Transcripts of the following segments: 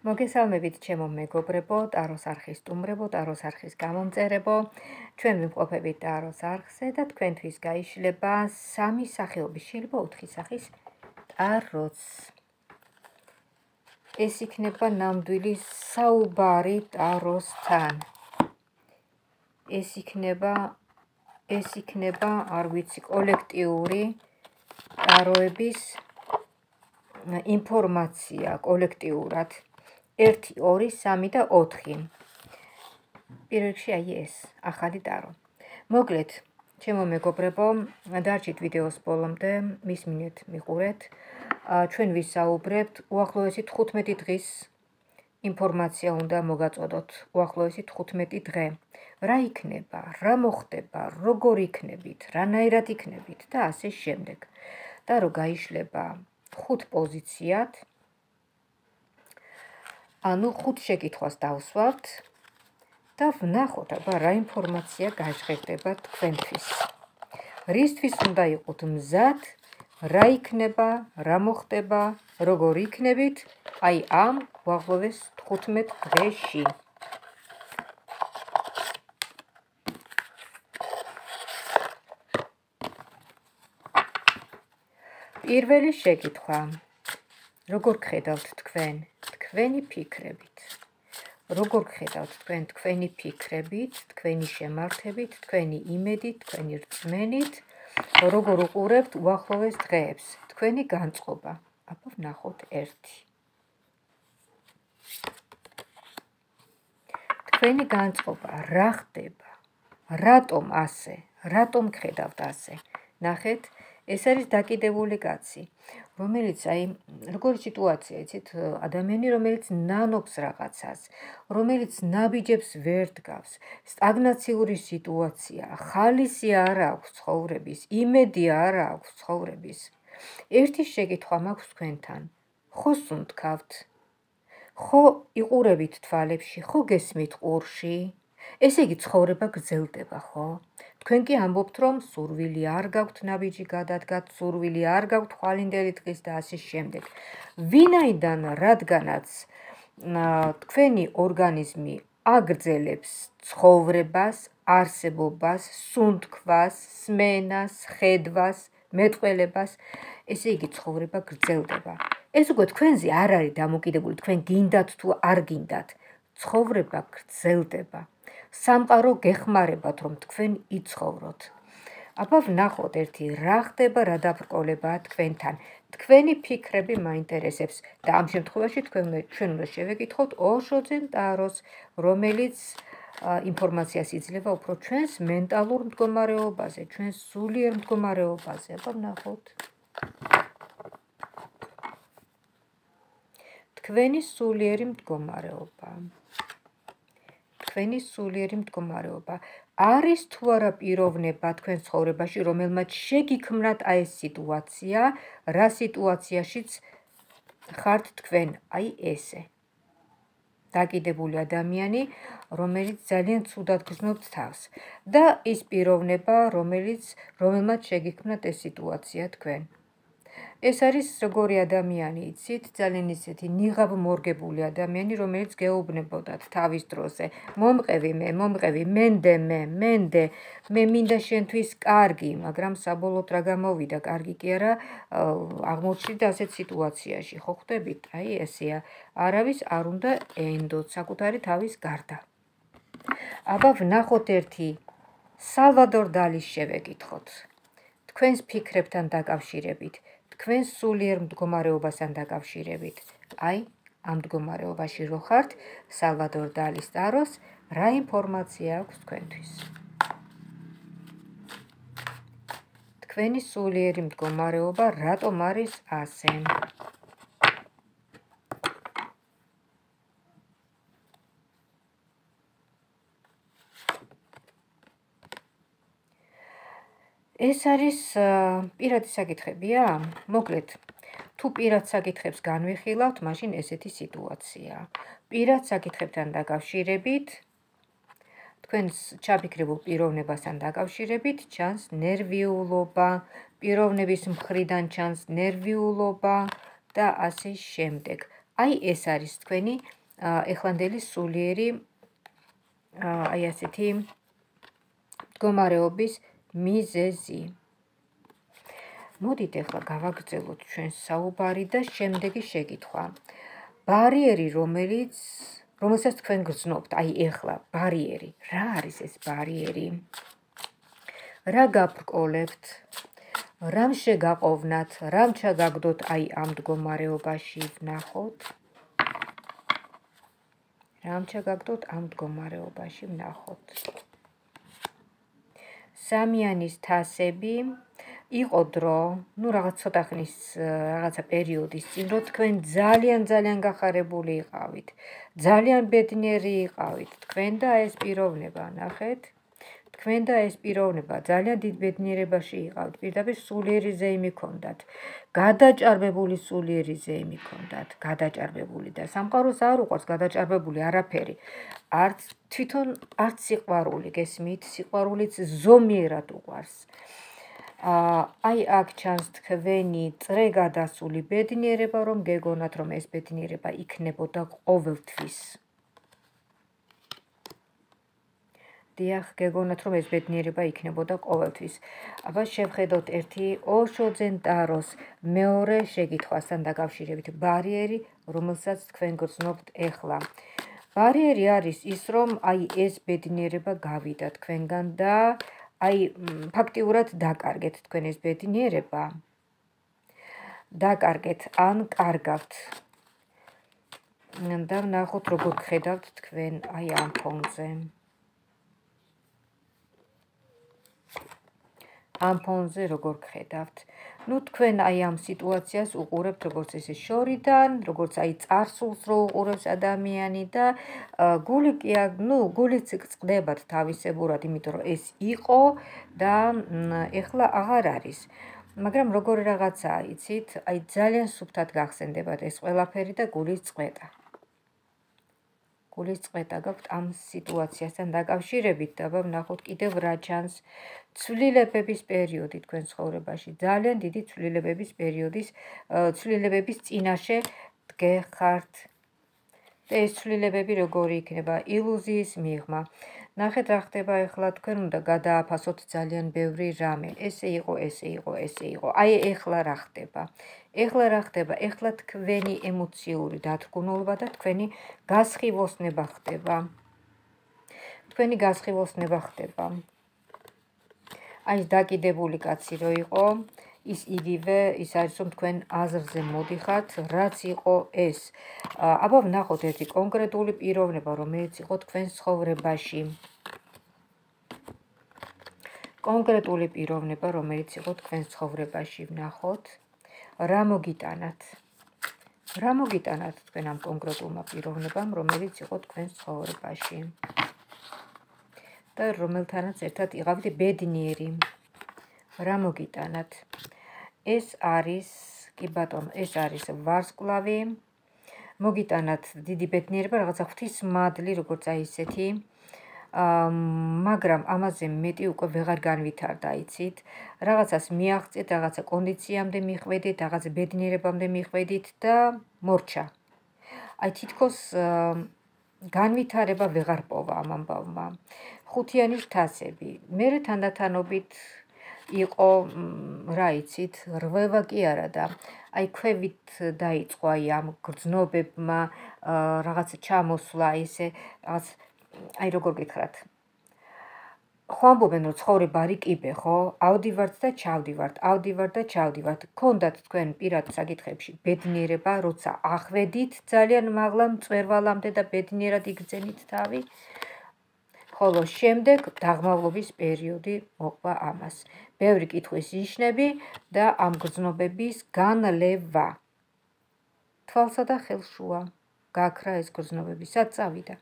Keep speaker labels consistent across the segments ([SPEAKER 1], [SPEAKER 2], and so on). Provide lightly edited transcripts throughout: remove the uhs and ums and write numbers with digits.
[SPEAKER 1] მოგესალმებით ჩემო მეგობრებო, ტაროს არხის სტუმრებო, ტაროს არხის გამომწერებო. ჩვენ ვიმყოფებით ტაროს არხზე და თქვენთვის გაიშლება 3 სახეობის, შეიძლება 4 სახის ტაროც. ეს იქნება ნამდვილი საუბარი ტაროსთან. ეს იქნება, არ ვიცი, კოლექტიური ტაროების ინფორმაცია კოლექტიურად. 1, 2, 3 და 4. პირველ რიგში აი ეს, ახალი ტარო. მოკლედ, ჩემო მეგობრებო, დარჩით ვიდეოს ბოლომდე, მისმინეთ, მიყურეთ. ჩვენ ვისაუბრებთ უახლოესი 15 დღის ინფორმაცია უნდა მოგაწოდოთ. უახლოესი 15 დღე. რა იქნება, რა მოხდება, როგორ იქნებით, რანაირად იქნებით და ასე შემდეგ. და რო გაიშლება 5 პოზიციად, ანუ 5 შეკითხვას დავსვავთ და ვნახოთ, აბა რა ინფორმაცია გაჟღერდება თქვენთვის. რისთვის უნდა იყოთ მზად, რა იქნება, რა მოხდება, როგორ იქნებით, აი ამ უახლოეს 15 დღეში. პირველი შეკითხვა. როგორ გხედავთ თქვენ თქვენი ფიქრებით? როგორ გხედავთ თქვენ თქვენი ფიქრებით, თქვენი შემართებით, თქვენი იმედით, თქვენი რწმენით, როგორ უყურებთ უახლოეს დღეებს, თქვენი განწყობა? აბა ვნახოთ 1. თქვენი განწყობა რა ხდება? რატომ ასე? რატომ გხედავთ ასე? ნახეთ, ეს არის დაკიდებული კაცი, რომელიც როგორი სიტუაცია, იცით, ადამიანი, რომელიც ნანობს რაღაცას, რომელიც ნაბიჯებს ვერ დგავს, სტაგნაციური სიტუაცია, ხალისი არ აქვს ცხოვრების, იმედი არ აქვს ცხოვრების. ერთი შეკითხვა მაქვს თქვენთან. ხო სუნთქავთ? ხო იყურებით თვალებში, ხო გესმით ყურში? ესე იგი ცხოვრება გრძელდება, ხო? თქვენ კი ამბობთ, რომ სურვილი არ გაქვთ ნაბიჯი გადადგათ, სურვილი არ გაქვთ ხვალინდელი დღის და ასე შემდეგ. ვინაიდან რადგანაც თქვენი ორგანიზმი აგრძელებს ცხოვრებას, არსებობას, სუნთქვას, სმენას, ხედვას, მეტყველებას, ესე იგი ცხოვრება გრძელდება. ეს უკვე თქვენზე არ არის დამოკიდებული, თქვენ გინდათ თუ არ გინდათ. ცხოვრება გრძელდება. სამყარო გეხმარებათ, რომ თქვენ იცხოვროთ. აბა ვნახოთ 1, რა ხდება, რა დაბრკოლებაა თქვენთან. თქვენი ფიქრები მაინტერესებს და ამ შემთხვევაში ჩვენ უნდა შევეკითხოთ ოშოძენ ტაროს, რომელიც ინფორმაციას იძლევა უფრო ჩვენს მენტალურ მდგომარეობაზე, ჩვენს სულიერ მდგომარეობაზე. აბა ვნახოთ. თქვენი სულიერი მდგომარეობა. თქვენი სულიერი მდგომარეობა. არის თუ არა პიროვნება თქვენ ცხოვრებაში, რომელმაც შეგიქმნათ ეს სიტუაცია, რა სიტუაციაშიც ხართ თქვენ, აი ესე. დაკიდებული ადამიანი, რომელიც ძალიან ცუდად გრძნობთ თავს და ის პიროვნება, რომელმაც შეგიქმნათ ეს სიტუაცია თქვენ. ეს არის როგორი ადამიანი, იცით, ძალიან ისეთი ნიღაბ მორგებული ადამიანი, რომელიც გეუბნებოდათ თავის დროზე. მომყევი მე, მენდე, მე მინდა შენთვის კარგი, მაგრამ საბოლოოდ რა გამოვიდა, კარგი კი არა, აღმოჩნდით ასეთ სიტუაციაში, ხო ხვდებით? აი ესეა, არავის არ უნდა ენდოთ საკუთარი თავის გარდა. აბა ვნახოთ 1. სალვადორ დალის შევეკითხოთ. თქვენს ფიქრებთან დაკავშირებით, თქვენ სულიერ მდგომარეობასთან დაკავშირებით. აი, ამ მდგომარეობაში რო ხართ, სალვადორ დალის ტაროს რა ინფორმაცია აქვს თქვენთვის? თქვენი სულიერი მდგომარეობა რატომ არის ასე? ეს არის პირადი საკითხებია? მოკლედ, თუ პირად საკითხებს განვიხილავთ, მაშინ ესეთი სიტუაცია. პირად საკითხებთან დაკავშირებით, თქვენს ჩაფიქრებულ პიროვნებასთან დაკავშირებით ჩანს ნერვიულობა, პიროვნების მხრიდან ჩანს ნერვიულობა და ასე შემდეგ. აი ეს არის თქვენი ეხლანდელი სულიერი აი ასეთი მდგომარეობის მიზეზი. მოდით ახლა გავაგრძელოთ ჩვენს საუბარი და შემდეგი შეკითხვა. ბარიერი, რომელსაც თქვენ გრძნობთ, აი ახლა ბარიერი. რა არის ეს ბარიერი? რა გაბრკოლებთ? რამ შეგაყოვნათ? რამ ჩაგაგდოთ აი ამ მდგომარეობაში ვნახოთ? რამ ჩაგაგდოთ ამ მდგომარეობაში ვნახოთ? სამიანის თასები იყო დრო, რაღაც ცოტა ხნის რაღაცა პერიოდის წინ, რომ თქვენ ძალიან გახარებული იყავით, ძალიან ბედნიერი იყავით, თქვენ და ეს პიროვნება, ნახეთ, თქვენ და ეს პიროვნება ძალიან დიდ ბედნიერებაში იყავთ, პირდაპირ სულიერი ზეიმი ჰქონდათ, გადაჭარბებული სულიერი ზეიმი ჰქონდათ, გადაჭარბებული და სამყაროს არ უყვარს გადაჭარბებული არაფერი, თვითონ არც სიყვარული, გესმით, სიყვარულიც ზომიერად უყვარს. აი აქ ჩანს თქვენი წრე გადასული ბედნიერება, რომ გეგონათ, რომ ეს ბედნიერება იქნებოდა ყოველთვის. დიახ, გეგონათ, რომ ეს ბედნიერება იქნებოდა ყოველთვის. აბა შევხედოთ ერთი ოშოძენ ტაროს მეორე შეკითხვასთან დაკავშირებით. ბარიერი, რომელსაც თქვენ გრძნობთ ეხლა. ბარიერი არის ის, რომ აი ეს ბედნიერება გავიდა თქვენგან და აი ფაქტიურად დაკარგეთ თქვენ ეს ბედნიერება. დაკარგეთ ან კარგავთ. და ვნახოთ როგორ გხედავთ თქვენ აი ამ ფონზე. ამ ფონზე როგორ გხედავთ? ნუ თქვენ აი ამ სიტუაციას უყურებთ როგორც ესე შორიდან, როგორც აი წარსულს რო უყურებს ადამიანი და გულიც წყდებათ თავისებურად, იმიტომ რომ ეს იყო და ეხლა აღარ არის. მაგრამ როგორი რაღაცაა, იცით, აი ძალიან სუფთად გახსენდებათ ეს ყველაფერი და გულის წყვეტა. გულის წყვეტა გაქვთ ამ სიტუაციასთან დაკავშირებით და ვნახოთ კიდევ რა ჩანს ცვლილებების პერიოდი თქვენ ცხოვრებაში. ძალიან დიდი ცვლილებების პერიოდის ცვლილებების წინაშე დგეხართ. და ეს ცვლილებები როგორი იქნება? ილუზიის მიღმა. ნახეთ რა ხდება ახლა, თქვენ უნდა გადააფასოთ ძალიან ბევრი რამე. ესე იყო. აი ეხლა რა ხდება? ეხლა თქვენი ემოციური დათრგუნულობა და თქვენი გასხივოსნება ხდება. აი ეს დაკიდებული კაცი რო იყო, ის იგივე ის არის, რომ თქვენ აზრზე მოდიხართ, რაც იყო ეს. აბა ვნახოთ ერთი კონკრეტული პიროვნება, რომელიც იყო თქვენ ცხოვრებაში. კონკრეტული პიროვნება, რომელიც იყო თქვენ ცხოვრებაში, ვნახოთ. რა მოგიტანათ? რა მოგიტანათ თქვენ ამ კონკრეტულმა პიროვნებამ, რომელიც იყო თქვენ ცხოვრებაში? და რომელთანაც ერთად იყავით ბედნიერი. რა მოგიტანათ? ეს არის, კი ბატონო, ეს არის ვარსკვლავი. მოგიტანათ დიდი ბედნიერება, რაღაცა ღვთისმადლი, როგორც აი ესეთი. მაგრამ ამაზე მეტი უკვე ვეღარ განვითარდა, იცით? რაღაცას მიაღწიეთ, რაღაცა კონდიციამდე მიხვედით, რაღაც ბედნიერებამდე მიხვედით და მორჩა. აი თითქოს განვითარება ვეღარ პოვა ამ ამბავმა. ხუთიანის თასები. მერე თანდათანობით იყო, რა იცით, რღვევა კი არა და აი ქვევით დაიწყო აი ამ გრძნობებმა რაღაც ჩამოსვლა ისე რაღაც აი როგორ გითხრათ. ხო ამბობენ რომ ცხოვრება რიკიბე, ხო? ავდივართ და ჩავდივართ. გქონდათ თქვენ პირად საკითხებში ბედნიერება, როცა ახვედით ძალიან მაღლა მწვერვალამდე და ბედნიერად იგრძენით თავი. ხოლო შემდეგ დაღმავლობის პერიოდი მოყვა ამას. ბევრი კითხვის ნიშნები და ამ გრძნობების განლევა. თვალსა და ხელშუა გაქრა ეს გრძნობები, სად წავიდა?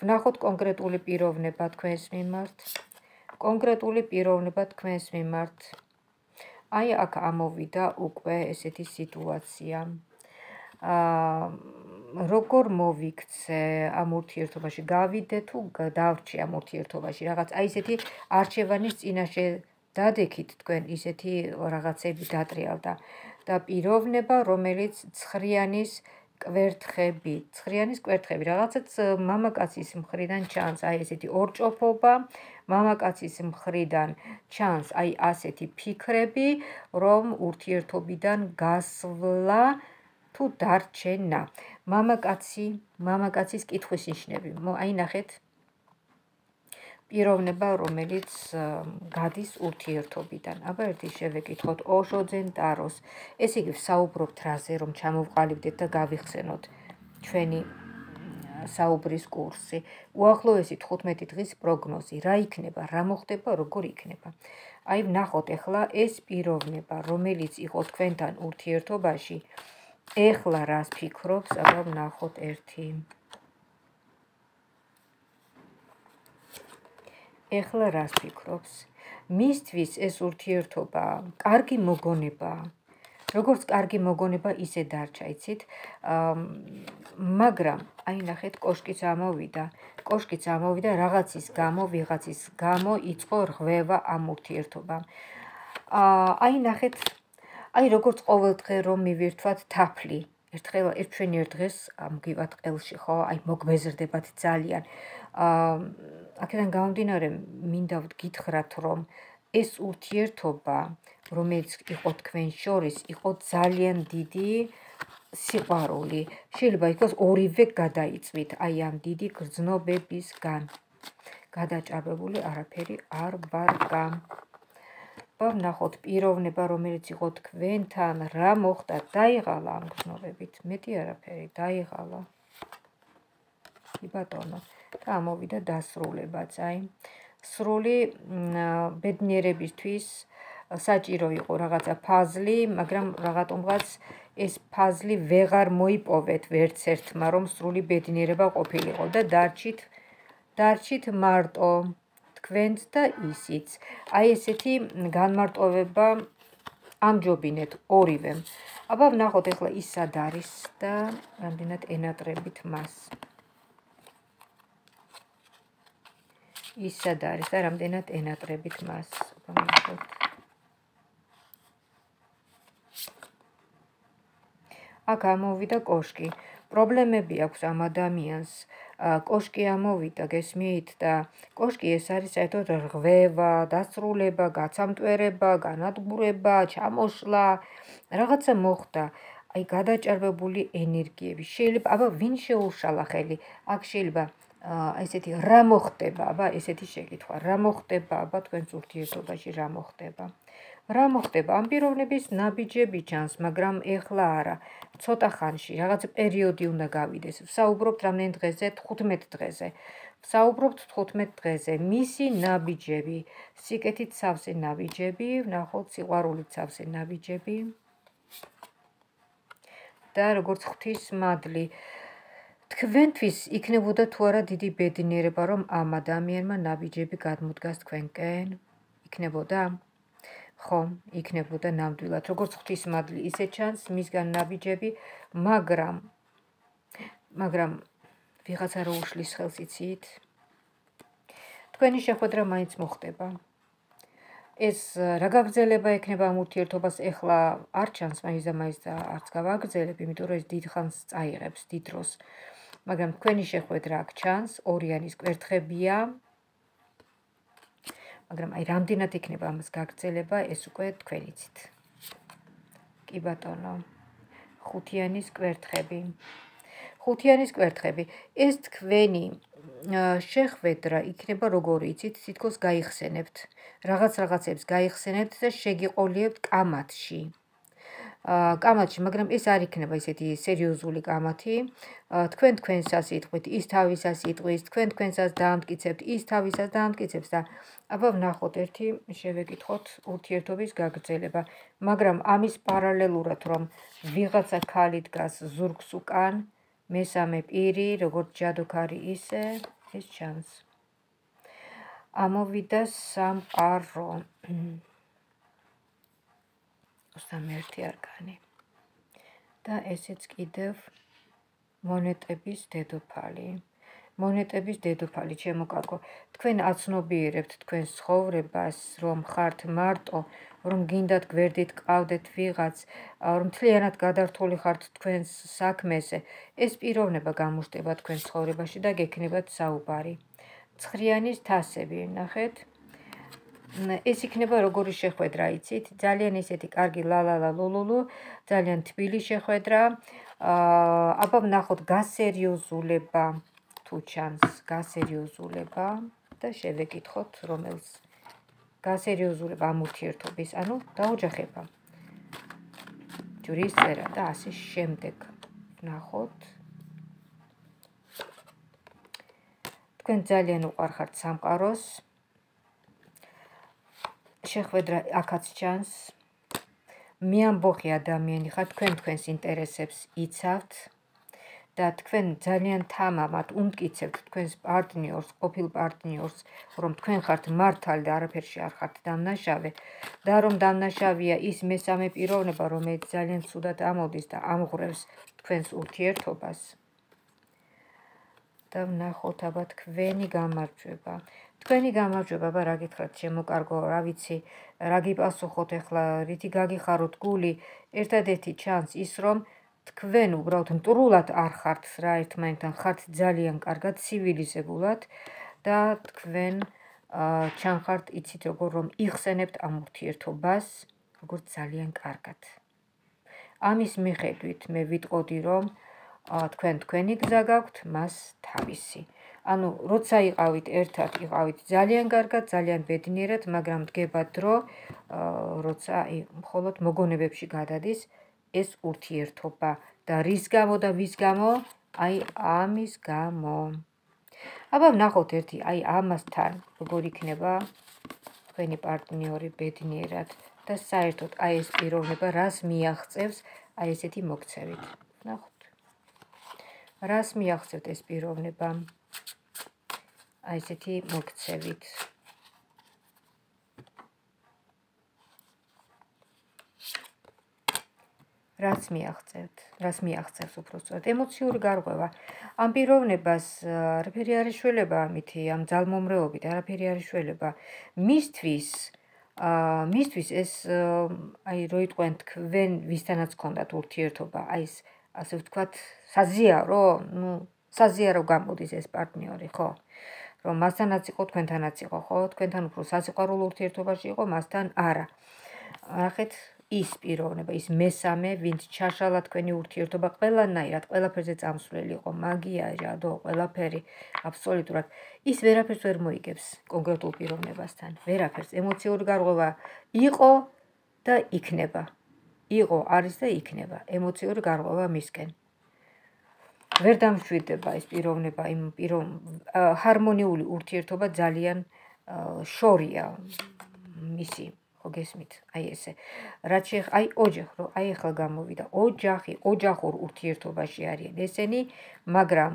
[SPEAKER 1] ვნახოთ კონკრეტული პიროვნება თქვენს მიმართ. აი აქ ამოვიდა უკვე ესეთი სიტუაცია. როგორ მოვიქცე ამ ურთიერთობაში? გავიდე თუ დავრჩი ამ ურთიერთობაში? რაღაც აი ესეთი არჩევანის წინაშე დადექით თქვენ ისეთი რაღაცები დატრიალდა და პიროვნება, რომელიც ცხრიანის კვერთხები, ცხრიანის კვერთხები, რაღაცაც მამაკაცის მხრიდან ჩანს აი ესეთი ორჭოფობა, მამაკაცის მხრიდან ჩანს აი ასეთი ფიქრები, რომ ურთიერთობიდან გასვლა თუ დარჩენა. მამაკაცის კითხვის ნიშნები. აი ნახეთ პიროვნება, რომელიც გადის ურთიერთობიდან. აბა ერთი შევეკითხოთ ოშოძენ ტაროს. ესე იგი ვსაუბრობთ რაზე, რომ ჩამოვყალიბდეთ და გავიხსენოთ ჩვენი საუბრის კურსი. უახლოესი 15 დღის პროგნოზი, რა იქნება, რა მოხდება, როგორ იქნება. აი ვნახოთ ახლა ეს პიროვნება, რომელიც იყო თქვენთან ურთიერთობაში, ახლა რას ფიქრობს, აბა ვნახოთ ერთი. ახლა რას ფიქრობს? მისთვის ეს ურთიერთობა კარგი მოგონებაა. როგორც კარგი მოგონება, ისე დარჩა, იცით? მაგრამ აი ნახეთ, კოშკიც ამოვიდა, რაღაცის გამო, ვიღაცის გამო იწყო რღვევა ამ ურთიერთობამ. აი ნახეთ, აი როგორც ყოველ დღე რომ მივირთვათ თაფლი. ჩვენ ერთ დღეს მოგივათ ყელში, ხო? აი მოგბეზრდებათ ძალიან. აქედან გამომდინარე, მინდა გითხრათ, რომ ეს ურთიერთობა, რომელიც იყო თქვენ შორის, იყო ძალიან დიდი სიყვარული. შეიძლება იყოს ორივე გადაიწვით აი ამ დიდი გრძნობებისგან. გადაჭარბებული არაფერი არ ვარ გამ. ვნახოთ პიროვნება, რომელიც იყო თქვენთან, რა მოხდა, დაიღალა ამ გრძნობებით. მეტი არაფერი, დაიღალა. კი ბატონო. და ამოვიდა დასრულებაც, აი. სრული ბედნიერებისთვის საჭირო იყო რაღაცა ფაზლი, მაგრამ რაღაცომღაც ეს ფაზლი ვეღარ მოიპოვეთ ვერც ერთმა, რომ სრული ბედნიერება ყოფილიყო და დარჩით მარტო თქვენც და ისიც. აი ესეთი განმარტოვება ამჯობინეთ ორივემ. აბა ვნახოთ ახლა ის სად არის და რამდენად ენატრებით მას. ის სად არის და რამდენად ენატრებით მას. აქ ამოვიდა კოშკი. პრობლემები აქვს ამ ადამიანს. კოშკი ამოვიდა, გესმით და კოშკი ეს არის საერთოდ რღვევა, დასრულება, გაცამტვერება, განადგურება, ჩამოშლა, რაღაცა მოხდა. აი გადაჭარბებული ენერგიები. შეიძლება, აბა ვინ შეუშალა ხელი? აქ შეიძლება ესეთი რა მოხდება, აბა ესეთი შეკითხვა, რა მოხდება, აბა თქვენს ურთიერთობაში რა მოხდება? რა მოხდება? ამ პიროვნების ნაბიჯები ჩანს, მაგრამ ეხლა არა. ცოტა ხანში, რაღაც პერიოდი უნდა გავიდეს. ვსაუბრობთ რამდენ დღეზე? 15 დღეზე. ვსაუბრობთ 15 დღეზე. მისი ნაბიჯები, სიკეთით სავსე ნაბიჯები, ვნახოთ სიყვარულით სავსე ნაბიჯები. და როგორც ღვთისმადლი, თქვენთვის იქნებოდა თუ არა დიდი ბედნიერება, რომ ამ ადამიანმა ნაბიჯები გადმოდგას თქვენკენ? იქნებოდა? ხო, იქნებოდა ნამდვილად. როგორც ღვთისმადლი, ისე ჩანს მისგან ნაბიჯები, მაგრამ ვიღაცა რო უშლის ხელს, იცით? თქვენი შეხვედრა მაინც მოხდება. ეს რა გაგრძელება ექნება ამ ურთიერთობას, ეხლა არ ჩანს მაინც და არც გავაგრძელებ, იმიტომ რომ ეს დიდ ხანს წაიღებს, დიდ დროს. მაგრამ თქვენი შეხვედრა აქ ჩანს, ორიანის კვერთხებია. მაგრამ აი რამდენად იქნება ამას გაგრძელება, ეს უკვე თქვენ იცით. კი ბატონო. ხუთიანის კვერთხები. ეს თქვენი შეხვედრა იქნება როგორი, იცით, თითქოს გაიხსენებთ. რაღაცებს გაიხსენებთ და შეგიყოლიებთ კამათში. მაგრამ ეს არ იქნება ისეთი სერიოზული კამათი. თქვენ თქვენსას იტყვით, ის თავისას იტყვის, თქვენ თქვენსას დაამტკიცებთ, ის თავისას დაამტკიცებს და აბა ვნახოთ ერთი შევეკითხოთ ურთიერთობის გაგრძელება. მაგრამ ამის პარალელურად, რომ ვიღაცა ქალი დგას ზურგს უკან, მესამე პირი, როგორც ჯადოქარი ისე, ეს ჩანს. ამოვიდა სამყარო. 21 არკანი. და ესეც კიდევ მონეტების დედოფალი. მონეტების დედოფალი, ჩემო კარგო. თქვენ აცნობიერებთ თქვენს ცხოვრებას, რომ ხართ მარტო, რომ გინდათ გვერდით ყავდეთ ვიღაც, რომ მთლიანად გადართული ხართ თქვენს საქმეზე. ეს პიროვნება გამოჩნდება თქვენს ცხოვრებაში და გექნებათ საუბარი. ცხრიანის თასები, ნახეთ. ეს იქნება როგორი შეხვედრა, იცით? ძალიან ისეთი კარგი ლალალა ლულულუ, ძალიან თბილი შეხვედრა. აბა ვნახოთ გასერიოზულება თუ ჩანს გასერიოზულება და შევეკითხოთ რომელს გასერიოზულება ამ ურთიერთობის, ანუ დაოჯახება. ჯვრის წერა და ასე შემდეგ. ვნახოთ. თქვენ ძალიან უყვარხართ სამყაროს. შეხვედრა აქაც ჩანს. მეამბოხი ადამიანი ხართ, თქვენ თქვენს ინტერესებს იცავთ და თქვენ ძალიან თამამად უმტკიცებთ თქვენს პარტნიორს, ყოფილ პარტნიორს, რომ თქვენ ხართ მართალი და არაფერში არ ხართ დამნაშავე და რომ დამნაშავეა ის მესამე პიროვნება, რომელიც ძალიან ცუდად ამოდის და ამღვრევს თქვენს ურთიერთობას. და ვნახოთ აბა თქვენი გამარჯვება. თქვენი გამარჯვება, აბა რა გითხრათ, ჩემო კარგო, რა ვიცი, რა გიპასუხოთ ახლა, რითი გაგიხაროთ გული, ერთადერთი ჩანს ის, რომ თქვენ უბრალოდ მტრულად არ ხართ რა ერთმანეთთან, ხართ ძალიან კარგად, ცივილიზებულად და თქვენ ჩანხართ, იცით როგორ რომ იხსენებთ ამ ურთიერთობას, როგორც ძალიან კარგად. ამის მიხედვით მე ვიტყოდი, რომ თქვენ თქვენი გზა გაქვთ, მას თავისი. ანუ როცა იყავით ერთად, იყავით ძალიან კარგად, ძალიან ბედნიერად, მაგრამ დგება დრო, როცა მხოლოდ მოგონებებში გადადის ეს ურთიერთობა და რის გამო და ვის გამო? აი ამის გამო. აბა ვნახოთ ერთი, აი ამასთან როგორ იქნება თქვენი პარტნიორი ბედნიერად და საერთოდ აი ეს პიროვნება რას მიაღწევს აი ესეთი მოქცევით. ვნახოთ. რას მიაღწევთ ეს პიროვნება? აი ესეთი მოქცევით. რას მიაღწევს უბრალოდ ემოციური გარღვევა. ამ პიროვნებას არაფერი არ ეშველება ამითი, ამ ძალმომრეობით არაფერი არ ეშველება. მისთვის ეს აი რო იტყვენ თქვენ ვისთანაც გქონდათ ურთიერთობა, აი ეს ასე ვთქვათ, საზიარო, საზიარო გამოდის ეს პარტნიორი, ხო? რომ მასთანაც იყო, თქვენთანაც იყო, ხო? თქვენთან უფრო სასიყვარულო ურთიერთობაში იყო, მასთან არა. ნახეთ, ის პიროვნება, ის მესამე, ვინც ჩაშალა თქვენი ურთიერთობა ყველანაირად, ყველაფერზე წამსვლელი იყო, მაგია, ჟადო, ყველაფერი, აბსოლუტურად. ის ვერაფერს ვერ მოიგებს კონკრეტულ პიროვნებასთან. ვერაფერს, ემოციური გარღვევა იყო და იქნება. იყო, არის და იქნება. ემოციური გარღვევა მისკენ. ვერ დამშვიდდება ეს პიროვნება, იმ ჰარმონიული ურთიერთობა ძალიან შორია მისი, ხო გესმით? აი ესე. რაც აი ოჯახი, რომ აი ახლა გამოვიდა, ოჯახურ ურთიერთობაში არიან ესენი, მაგრამ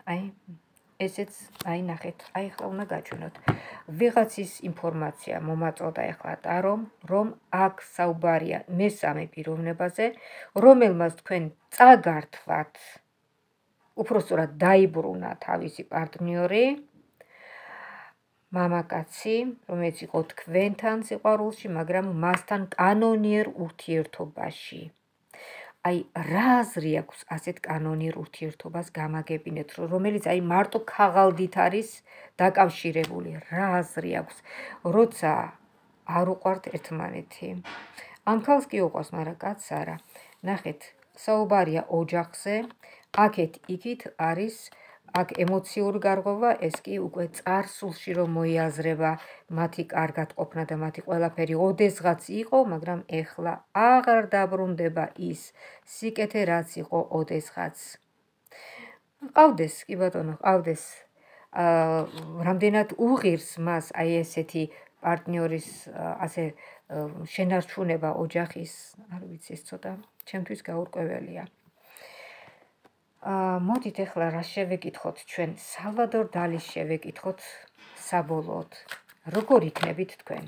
[SPEAKER 1] აი ესეც აი ნახეთ, აი ახლა უნდა გაჩვენოთ. ვიღაცის ინფორმაცია მომაწოდა ახლა ტარომ, რომ აქ საუბარია მესამე პიროვნებაზე, რომელმაც თქვენ წაგართვათ, უпростоრად დაიბრუნა თავისი პარტნიორი, მამაკაცი, რომელიც იყო თქვენთან სიყვარულში, მაგრამ მასთან კანონიერ ურთიერთობაში. აი რა აზრი აქვს ასეთ კანონიერ ურთიერთობას გამაგებინეთ, რომელიც აი მარტო ქაღალდით არის დაკავშირებული. რა აზრი აქვს, როცა არ უყვართ ერთმანეთი. ამ ქალს კი უყვარს, მაგრამ კაცს არა. ნახეთ, საუბარია ოჯახზე, აქეთ იქით არის აქ ემოციური გარღვევა, ეს კი უკვე წარსულში რომ მოიაზრება მათი კარგად ყოფნა და მათი ყველაფერი ოდესღაც იყო, მაგრამ ეხლა აღარ დაბრუნდება ის სიკეთე, რაც იყო ოდესღაც. ყავდეს, კი ბატონო, ყავდეს. რამდენად უღირს მას აი ესეთი პარტნიორის ასე შენარჩუნება ოჯახის, არ ვიცი, ეს ცოტა ჩემთვის გაურკვეველია. მოდით ახლა რა შევეკითხოთ ჩვენ, სალვადორ დალის შევეკითხოთ საბოლოოდ. როგორ იქნებით თქვენ?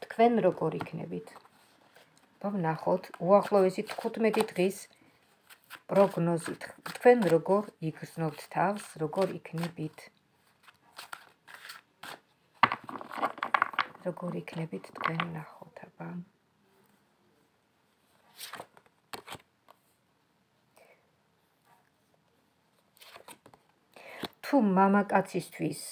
[SPEAKER 1] თქვენ როგორ იქნებით? ვნახოთ, უახლოესი 15 დღის პროგნოზით თქვენ როგორ იგრძნობთ თავს, როგორ იქნებით? როგორ იქნებით თქვენ ნახოთ, აბა. თუ მამაკაცისთვის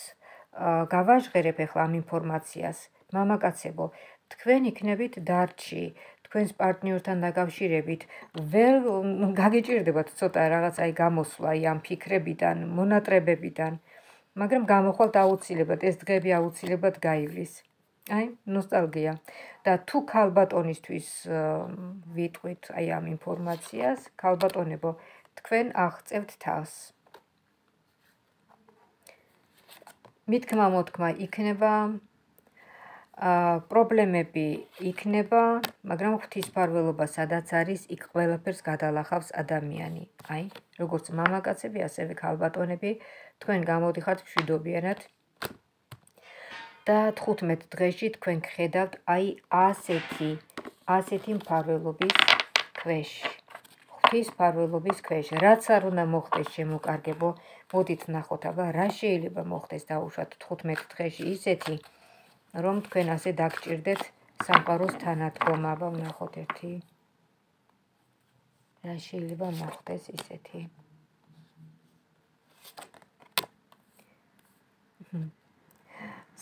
[SPEAKER 1] გავაჟღერებ ახლა ამ ინფორმაციას, მამაკაცებო, თქვენ იქნებით დარჩი, თქვენს პარტნიორთან დაკავშირებით, ვერ გაგიჭირდებათ ცოტა რაღაც აი გამოსვლა ამ ფიქრებიდან, მონატრებებიდან, მაგრამ გამოხვალთ აუცილებლად, ეს დღეები აუცილებლად გაივლის. აი, ნოსტალგია. და თუ ქალბატონისთვის ვიტყვით აი ამ ინფორმაციას, ქალბატონებო, თქვენ აღწევთ თავს. მითქმა მოთქმა იქნება, პრობლემები იქნება, მაგრამ ღვთისმფარველობა სადაც არის, იქ ყველაფერს გადალახავს ადამიანი. აი, როგორც მამაკაცები, ასევე ქალბატონები, თქვენ გამოდიხართ მშვიდობიანად და 15 დღეში თქვენ გხედავთ აი ასეთი მფარველობის ქვეშ. ღვთისმფარველობის ქვეშ. რაც არ უნდა მოხდეს შემოკარგებო, მოდით ნახოთ, აბა რა შეიძლება მოხდეს დაუშვათ 15 დღეში ისეთი, რომ თქვენ ასე დაგჭირდეთ სამყაროს თანადგომა, აბა ვნახოთ ერთი. რა შეიძლება მოხდეს ისეთი.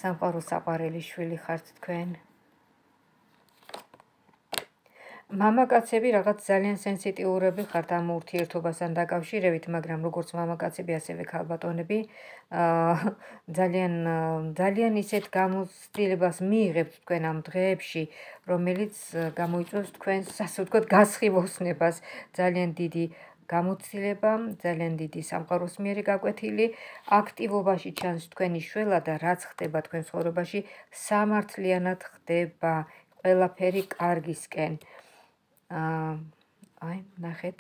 [SPEAKER 1] სამყაროს საყვარელი შვილი ხართ თქვენ. მამაკაცები რაღაც ძალიან სენსიტიურები ხართ ამ ურთიერთობასთან დაკავშირებით, მაგრამ როგორც მამაკაცები, ასევე ქალბატონები, ძალიან ისეთ გამოცდილებას მიიღებთ თქვენ ამ დღეებში, რომელიც გამოიწვევს თქვენს, ასე ვთქვათ, გასხივოსნებას, ძალიან დიდი გამოცდილება, ძალიან დიდი სამყაროს მიერი გაკვეთილი, აქტივობაში ჩანს თქვენი შველა და რაც ხდება თქვენ ცხოვრებაში, სამართლიანად ხდება, ყველაფერი კარგისკენ. აი, ნახეთ.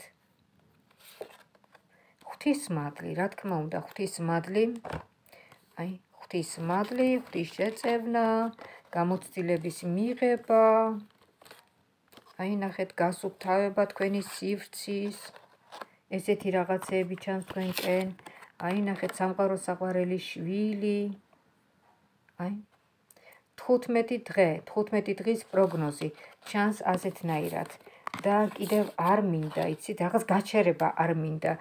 [SPEAKER 1] ღვთისმადლი, რა თქმა უნდა, ღვთისმადლი. აი, ღვთისმადლი, ღვთისშეწევნა, გამოცდილების მიღება. აი, ნახეთ, გასუფთავება თქვენი სივრცის. ესეთი რაღაცეები ჩანს თქვენკენ. აი, ნახეთ, სამყაროს საყვარელი შვილი. აი, 15 დღის პროგნოზი ჩანს ასეთნაირად. და კიდევ არ მინდა, იცით, რაღაც გაჩერება არ მინდა.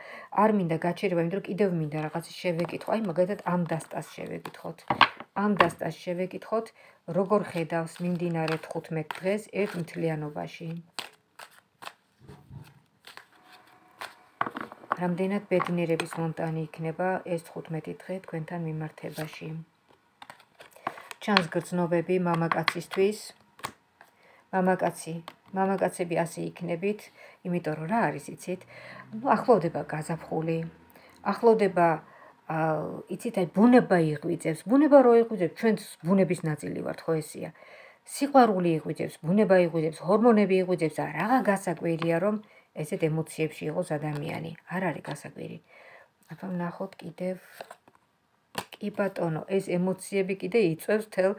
[SPEAKER 1] არ მინდა გაჩერება, იმიტომ რომ კიდევ მინდა რაღაცის შევეკითხო. აი, მაგალითად, ამ დასტას შევეკითხოთ. ამ დასტას შევეკითხოთ, როგორ ხედავს მიმდინარე 15 დღეს ერთ მთლიანობაში. რამდენად ბედნიერების მომტანი იქნება ეს 15 დღე თქვენთან მიმართებაში. ჩანს გრძნობები მამაკაცისთვის. მამაკაცები ასე იქნებით, იმიტომ რომ რა არის, იცით? ახლოვდება გაზაფხული, ახლოვდება, იცით, აი ბუნება იღვიძებს. ბუნება რო იღვიძებს, ჩვენც ბუნების ნაწილი ვართ, ხო ესეა? სიყვარული იღვიძებს, ბუნება იღვიძებს, ჰორმონები იღვიძებს და რაღა გასაკვირია, რომ ესეთ ემოციებში იყოს ადამიანი. არ არის გასაკვირი. აბა ვნახოთ კიდევ. კი ბატონო, ეს ემოციები კიდე იწვევს თელ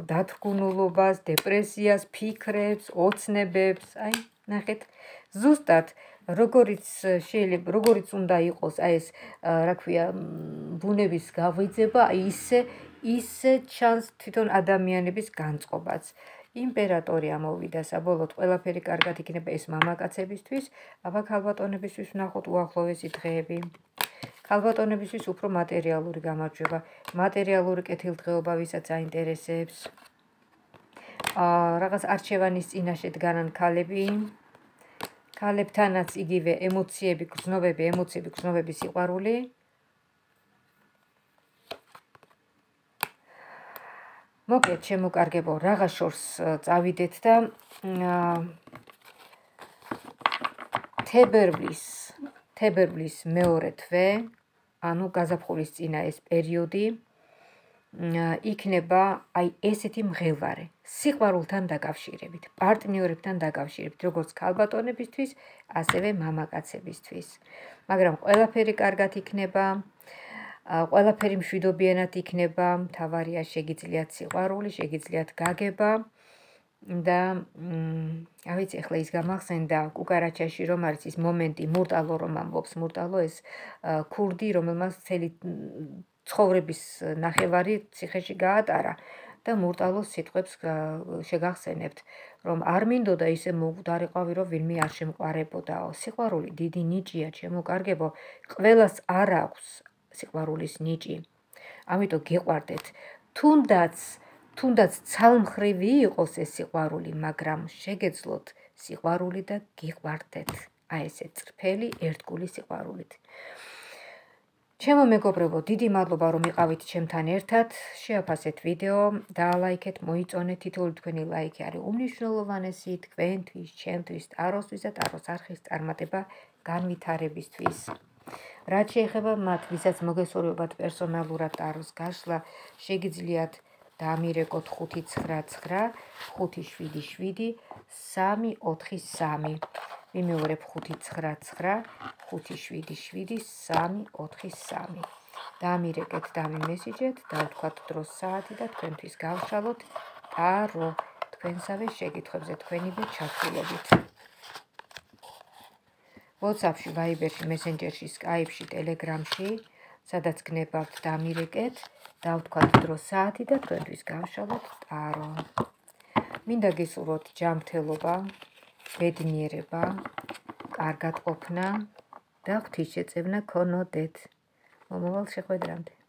[SPEAKER 1] დათრგუნულობას, დეპრესიას, ფიქრებს, ოცნებებს. აი, ნახეთ, ზუსტად როგორიც უნდა იყოს აი ეს, რა ქვია, ბუნების გაღვიძება, ისე ჩანს თვითონ ადამიანების განწყობაც. იმპერატორი ამოვიდა საბოლოოდ, ყველაფერი კარგად იქნება ეს მამაკაცებისთვის, აბა ქალბატონებისთვის ვნახოთ უახლოესი დღეები. ქალბატონებისთვის უფრო მატერიალური გამარჯვება, მატერიალური კეთილდღეობა, ვისაც აინტერესებს. რაღაც არჩევანის წინაშე დგანან ქალები. ქალებთანაც იგივე ემოციები, გრძნობები, სიყვარული. მოკლედ, შემოკარგებო, რაღა შორს წავიდეთ და თებერვლის მეორე თვე, ანუ გაზაფხულის წინა ეს პერიოდი, იქნება აი ესეთი მღელვარე, სიყვარულთან დაკავშირებით, პარტნიორებთან დაკავშირებით, როგორც ქალბატონებისთვის, ასევე მამაკაცებისთვის. მაგრამ ყველაფერი კარგად იქნება, ყველაფერი მშვიდობიანად იქნება, მთავარია შეგიძლიათ სიყვარული, შეგიძლიათ გაგება და არ ვიცი ახლა ის გამახსენდა კუკარაჩაში რომ არის ის მომენტი მურტალო რომ ამბობს მურტალო ეს ქურდი რომელმაც მთელი ცხოვრების ნახევარი ციხეში გაატარა და მურტალოს სიტყვებს შეგახსენებთ რომ არ მინდოდა ისე მოვდარიყავი რომ ვინმე არ შემყარებოდაო სიყვარული დიდი ნიჭია ჩემო კარგებო ყველას არ აქვს სიყვარულის ნიჭი ამიტომ გიყვარდეთ თუნდაც ცალმხრივი იყოს ეს სიყვარული, მაგრამ შეგეძლოთ სიყვარული და გიყვარდეთ. აი ესე წრფელი ერთგული სიყვარულით. ჩემო მეგობრებო, დიდი მადლობა რომ იყავით ჩემთან ერთად. შეაფასეთ ვიდეო, დაალაიქეთ, მოიწონეთ, თითოეული თქვენი ლაიქი არის უმნიშვნელოვანესი თქვენთვის, ჩემთვის, ტაროსთვის და ტაროს არხის წარმატება განვითარებისთვის. რაც შეეხება მათ, ვისაც მოგესურვებათ პერსონალურად ტაროს გაშლა, შეგიძლიათ დამირეკოთ 599 577 343 ვიმეორებ 599 577 343 დამირეკეთ დამიმესიჯეთ დავთქვათ დროს საათი და თქვენთვის გავშალოთ ტარო თქვენსავე შეკითხვებზე თქვენივე ჩართულობით WhatsApp-ში, Viber-ში, Messenger-ში, Skype-ში, Telegram-ში, სადაც გნებავთ დამირეკეთ დავთქვათ დროს საათი და თქვენთვის გავშალოთ ტარო. მინდა გისურვოთ ჯანმრთელობა, ბედნიერება, კარგად ყოფნა და ღვთისშეწევნა ქონოდეთ. მომავალ შეხვედრამდე.